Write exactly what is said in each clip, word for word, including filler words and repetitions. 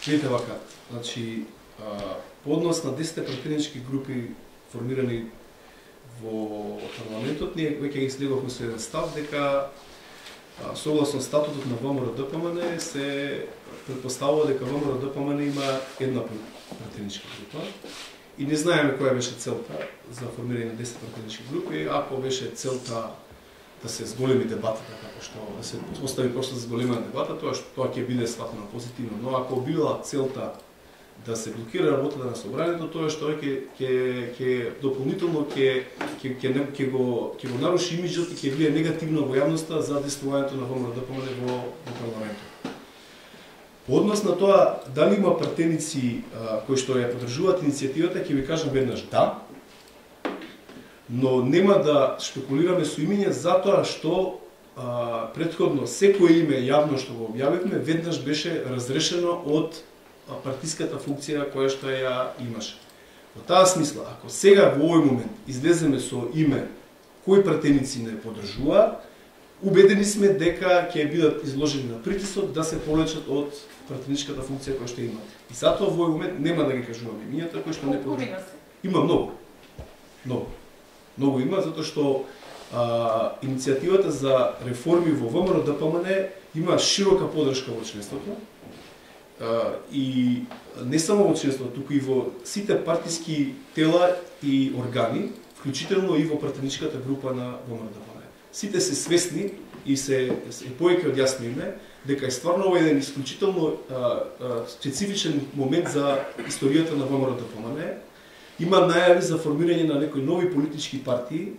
Видите вака, значи, по однос на десет пратенички групи формирани во парламентот, ние веќе ги слеговме со еден став дека согласно статутот на ВМРО-ДПМН се предпоставува дека ВМРО-ДПМН има една пратеничка група и не знаеме која беше целта за формирање на десет пратенички групи. Ако беше целта да се зголеми дебатата, како што да се остави просто за зголемена дебата, тоа што тоа ќе биде сватено позитивно, но ако била целта да се блокира работата на собранието, тоа што ќе ќе ќе дополнително ќе ќе ќе ќе го ќе го наруши имиџот и ќе влие негативно во јавноста за действувањето на ВМРО-ДПМН во во парламентот. По однос на тоа дали има пратеници а, кои што ја поддржуваат иницијативата, ќе ви кажам веднаш да, но нема да шпекулираме со имиња затоа што а, претходно секое име јавно што го објавивме веднаш беше разрешено од партиската функција која што ја имаше. Во таа смисла, ако сега во овој момент излеземе со име кои пратеници не поддржуваат, убедени сме дека ќе бидат изложени на притисок да се повлечат од пратеничката функција која што имаат. И затоа во овој момент нема да ги кажуваме имињата кои што не поддржуваат. Има многу. Многу. Многу има, затоа што а, иницијативата за реформи во ВМРО-ДПМН има широка поддршка во членството. Uh, и не само во членството, туку и во сите партиски тела и органи, вклучително и во пратеничката група на ВМРО-ДПМН. Сите се свесни и се, се повеќе од јасно име дека е стварно ова еден исклучително uh, uh, специфичен момент за историјата на ВМРО-ДПМН. Има најави за формирање на некои нови политички партии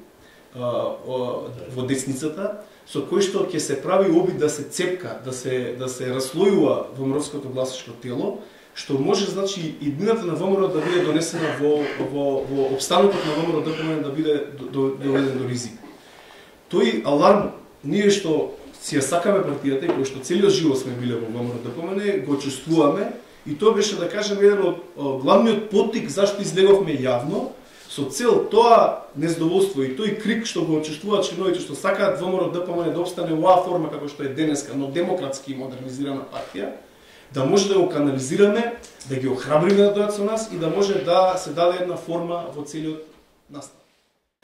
uh, uh, во десницата, со кој што ќе се прави обид да се цепка, да се да се раслојува ВМРО-ското гласачко тело, што може значи иднината на ВМРО да биде донесена во во во опстанокот на ВМРО-ДПМН да биде доведен до ризик. Тој аларм ние што си ја сакаме партијата и кој што целиот живот сме биле во ВМРО-ДПМН го чувствуваме и тоа беше да кажем еден од главниот поттик зашто излеговме јавно, со цел тоа незадоволство и тој крик што го чувствуваат членовите што сакаат ВМРО-ДПМН да опстане во оваа форма како што е денеска, но демократски и модернизирана партија, да може да го канализираме, да ги охрабриме да дојдат со нас и да може да се даде една форма во целиот настав.